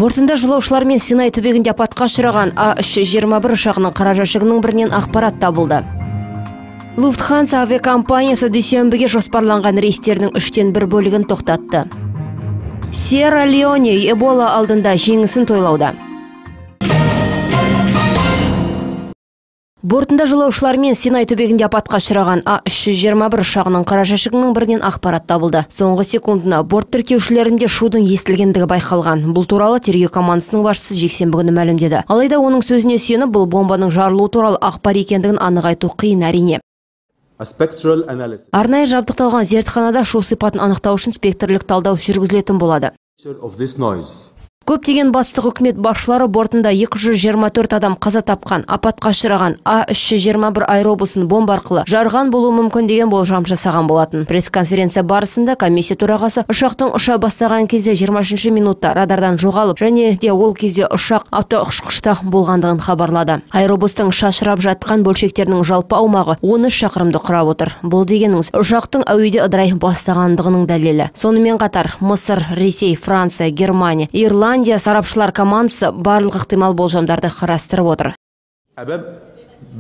Бортында жолаушылар мен Синай түбегінде апатқа ұшыраған А321 ұшағының қара жәшігінің бірінен ақпарат табылды. Lufthansa авиакомпаниясы дүйсенбіге жоспарланған рейстерінің 1/3 бөлігін тоқтатты. Сьерра-Леоне Эбола алдында жеңісін тойлауда. Бортында жолаушылар мен Синай түбегінде апатқа ұшыраған А321 ұшағының қара жәшігінің бірінен ақпарат табылды. Соңғы секундына борт тіркеушілерінде шудың естілгендігі байқалған. Бұл туралы тергеу командасының басшысы жексенбі күні мәлімдеді. Алайда оның сөзіне сүйеніп, бұл бомбаның жарылуы туралы ақпар екендігін анық айту қиын әрине. Арнайы жабдықталған зертханада шу сипатын анықтау үшін спектрлік талдау жүргізілетін болады. Көптеген бастық үкімет басшылары бортында 224 адам қаза тапқан, апатқа ұшыраған А321 аэробусын бомба арқылы жарған болуы мүмкін деген болжам жасаған болатын. Пресс-конференция барысында комиссия төрағасы ұшақтың ұша бастаған кезде 23 минутта радардан жоғалып, және де ол кезде ұшақ автоұшқышта болғандығын хабарлады. Аэробустың шашырап жатқан бөлшектерінің жалпы аумағы 13 шақырымды құрап отыр. Бұл дегеніңіз ұшақтың әуеде ыдырай бастағандығының дәлелі. Сонымен қатар Мысыр, Ресей, Франция, Германия, Ирландия сарапшылар командасы барлық ықтимал болжамдарды қарастырып отыр.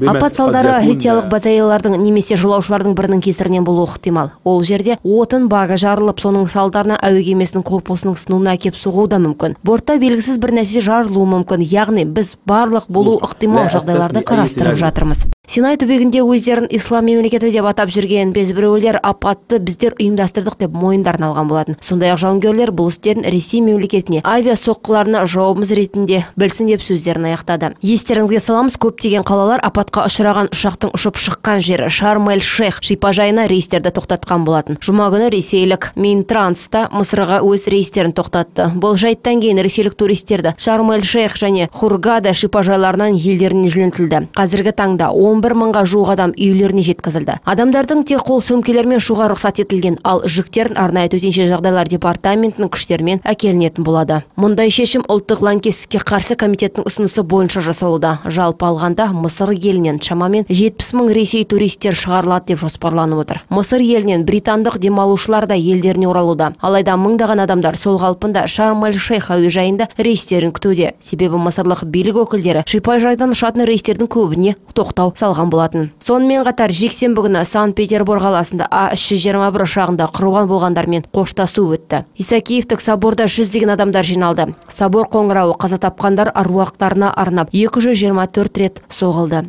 Апат салдары литиялық батареялардың немесе жолаушылардың бірінің кесірінен болуы ықтимал. Ол жерде отын бағы жарылып, соның салдарына әуе кемесінің корпусының сынуына әкеп соғуы да мүмкін. Бортта белгісіз бір нәрсе жарылуы мүмкін, яғни біз барлық болу ықтимал жағдайларды қарастырып жатырмыз. Синай түбегінде өздерін ислам мемлекеті деп атап жүрген безбіреулер апатты біздер ұйымдастырдық деп мойындарын алған болатын. Сондай-ақ жауынгерлер бұл істерін Ресей мемлекетіне авиа соққыларына жауабымыз ретінде білсін деп сөздерін аяқтады. Естеріңізге саламыз, көптеген қалалар апатқа ұшыраған ұшақтың ұшып шыққан жері Шарм-эль-Шейх шипажайына рейстерді тоқтатқан болатын. Жұма күні ресейлік Минтранста Мысырға өз рейстерін тоқтатты. Бұл жайттан кейін ресейлік туристерді Шарм-эль-Шейх және Хургада шипажайларынан елдеріне жөнелтілді. Қазіргі таңда 11 мыңға жуық адам үйлеріне жеткізілді. Адамдардың тек қол сөмкелермен ұшуға рұқсат етілген, ал жүктерін арнайы төтенше жағдайлар департаментінің күштерімен әкелінетін болады. Мұндай шешім ұлттық лаңкестікке қарсы комитеттің ұсынысы бойынша жасалуда. Жалпы алғанда Мысыр елінен шамамен 70 мың ресей туристер шығарылады деп жоспарланып отыр. Мысыр елінен британдық демалушылар да елдеріне оралуда. Алайда мыңдаған адамдар сол қалпында Шарм-эль-Шейх әуежайында рейстерін күтуде. Себебі мысырлық билік өкілдері шипажайдан ұшатын рейстердің көбіне тоқтау салған болатын. Сонымен қатар жексенбі күні Санкт-Петербург қаласында А321 ұшағында құрбан болғандармен қоштасу өтті. Исакиевтік соборда жүздеген адамдар жиналды. Собор қоңырауы қаза тапқандар аруақтарына арнап 224 рет соғылды.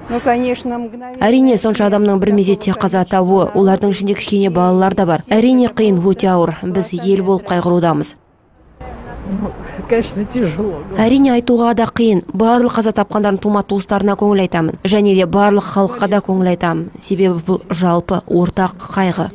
Әрине, сонша адамның бір мезетте қаза табуы, олардың ішінде кішкене балалар да бар. Әрине қиын, өте ауыр. Біз ел болып қайғырудамыз. Әрине айтуға да қиын. Барлық қаза тапқандардың тума-туыстарына көңіл айтамын. Және де барлық халыққа да көңіл айтамын. Себебі бұл жалпы ортақ қайғы.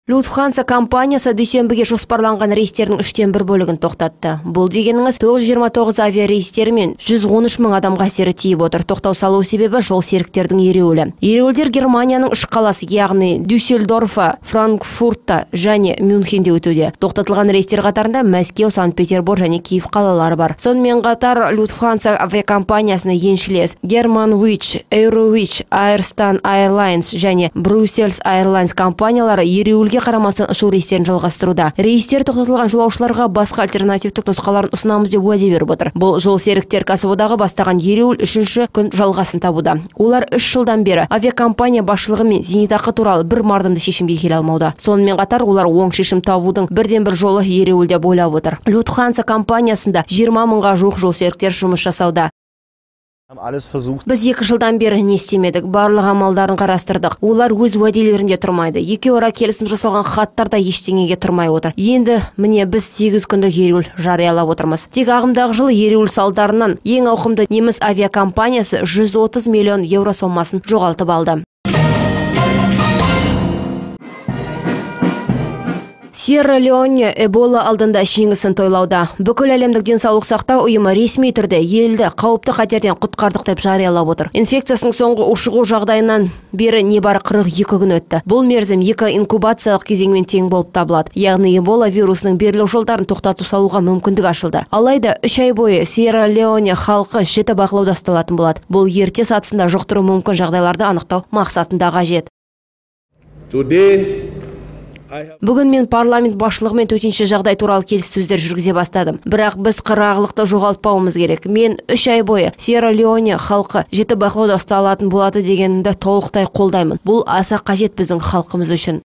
Lufthansa компаниясы дүйсенбіге жоспарланған рейстердің 1/3 бөлігін тоқтатты. Бұл дегеніңіз 929 авиа рейстері мен 113 мың адамға әсері тиіп отыр. Тоқтау салу себебі жол серіктердің ереуілі. Ереуілдер Германияның 3 қаласы, яғни Дюссельдорфа, Франкфуртта және Мюнхенде өтуде. Тоқтатылған рейстер қатарында Мәскеу, Санкт-Петербург және Киев қалалары бар. Сонымен қатар Lufthansa авиакомпаниясына еншілес Germanwings, Eurowings, Airstan Airlines және Brussels Airlines компаниялары ереуілге қарамастан ұшу рейстерін жалғастыруда. Рейстер тоқтатылған жолаушыларға басқа альтернативтік нұсқаларын ұсынамыз деп уәде беріп отыр. Бұл жол серіктер кәсіподағы бастаған ереуіл 3-ші күн жалғасын табуда. Олар 3 жылдан бері авиакомпания басшылығы мен зейнетақы туралы бір мардымды шешімге келе алмауда. Сонымен қатар олар оң шешім табудың бірден-бір жолы ереуілде бойлап отыр. Lufthansa компаниясында 20 мыңға жуық жол серіктер жұмыс жасауда. Біз 2 жылдан бері не істемедік, барлық амалдарын қарастырдық. Олар өз уәделерінде тұрмайды. Екеуара келісім жасалған хаттарда ештеңеге тұрмай отыр. Енді міне біз 8 күндік ереуіл жариялап отырмыз. Тек ағымдағы жылы ереуіл салдарынан ең ауқымды неміс авиакомпаниясы 130 миллион евро сомасын жоғалтып алды. Сьерра-Леоне Эбола алдында жеңісін тойлауда. Бүкіл әлемдік денсаулық сақтау ұйымы ресми түрде елді қауіпті қатерден құтқардық деп жариялап отыр. Инфекциясының соңғы ушығу жағдайынан бері небары 42 күн өтті. Бұл мерзім 2 инкубациялық кезеңмен тең болып табылады. Яғни Эбола вирусының берілу жолдарын тоқтату салуға мүмкіндік ашылды. Алайда 3 ай бойы Сьерра-Леоне халқы жіті бақылауда ұсталатын болады. Бұл ерте сатысында жұқтыру мүмкін жағдайларды анықтау мақсатында қажет. Бүгін мен парламент басшылығымен төтенше жағдай туралы келіссөздер жүргізе бастадым. Бірақ біз қырағылықты жоғалтпауымыз керек. Мен 3 ай бойы Сьерра-Леоне халқы жіті бақылауда ұсталатын болады дегенді толықтай қолдаймын. Бұл аса қажет біздің халқымыз үшін.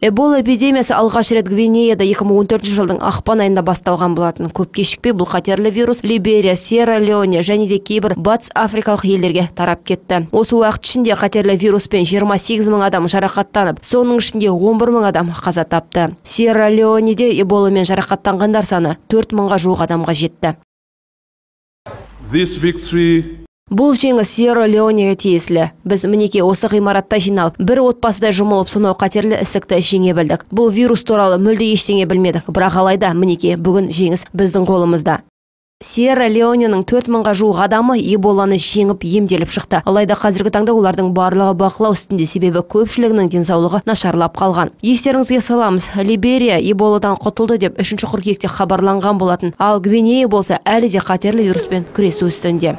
Эбола эпидемиясы алғаш рет Гвинеяда 2014 жылдың ақпан айында басталған болатын. Көп кешікпей бұл қатерлі вирус Либерия, Сьерра-Леоне және де кейбір батыс африкалық елдерге тарап кетті. Осы уақыт ішінде қатерлі вируспен 28 мың адам жарақаттанып, соның ішінде 11 мың адам қаза тапты. Сьерра-Леонеде эболамен жарақаттанғандар саны 4 мыңға жуық адамға жетті. Бұл жеңіс Сьерра-Леонеге тиесілі. Біз мінеке осы ғимаратта жиналып, бір отбасыда жұмылып, сонау қатерлі ісікті жеңе білдік. Бұл вирус туралы мүлде ештеңе білмедік, бірақ алайда мінеке бүгін жеңіс біздің қолымызда. Сьерра-Леоненің 4 мыңға жуық адамы эболаны жеңіп емделіп шықты. Алайда қазіргі таңда олардың барлығы бақылау үстінде, себебі көпшілігінің денсаулығы нашарлап қалған. Естеріңізге саламыз, Либерия эболадан құтылды деп 3 қыркүйекте хабарланған болатын. Ал Гвинея болса әлі де қатерлі вируспен күресу үстінде.